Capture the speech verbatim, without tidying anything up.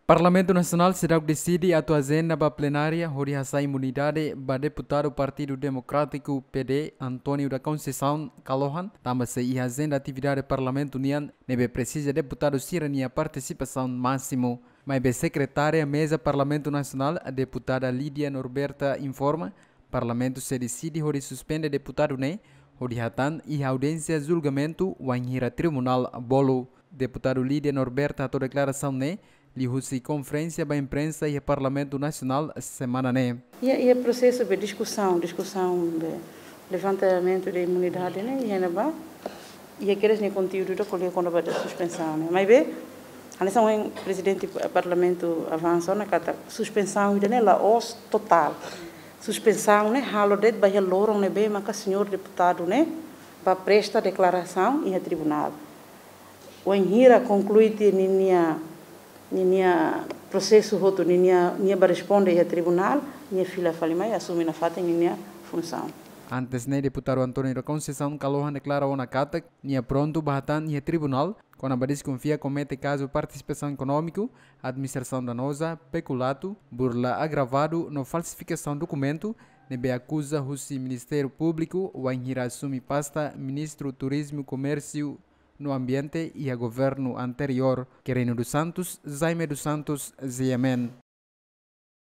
Parlamentu Nasionál seidauk deside atu ajenda ba plenária hodi hasai imunidade ba deputadu Partidu Demokrátiku, P D, António da Conceição Kalohan, tanba sei iha ajenda atividade Parlamentu nian ne'ebé presiza deputadu sira-nia partisipasaun másimu. Maibé Sekretária Meza Parlamentu Nasionál, Deputada Lídia Norberta, informa, Parlamentu sei deside hodi suspende deputadu ne'e hodi hatan iha audiénsia julgamentu wainhira tribunál bolu. Deputadu Lídia Norberta hato'o deklarasaun ne'e liuhusi konferénsia ba imprensa iha Parlamentu Nasionál semana ne'e. Iha, iha prosesu be diskusaun, diskusaun be levantamentu de imunidade ne'e, iha ne'ebá, iha kedas nia konteúdu ida ko'alia kona-ba suspensaun ne'e. Maibé, hanesan ohin Prezidente Parlamentu avansa ona katak suspensaun ida-ne'e la'ós totál. Suspensaun ne'e halo de'it ba iha loron ne'ebé maka señór deputadu ne'e bá presta deklarasaun iha tribunál. Wainhira konklui tiha ninia, ninia prosesu hotu, ninia, nia bá responde iha tribunál, nia fila fali mai, asume nafatin ninia funsaun. Antes ne'e, deputadu António da Conceição Kalohan deklara ona katak nia prontu bá hatan iha tribunál kona-ba deskonfia komete kazu partisipasaun ekonómiku, administrasaun danoza, pekulato, burla agravadu no falsifikasaun dokumentu, ne'ebé akuza husi Ministériu Públiku wainhira asume pasta Ministru Turizmu, Komérsiu no Ambiente iha governu anteriór. Quirino dos Santos, Jaime dos Santos, G M N.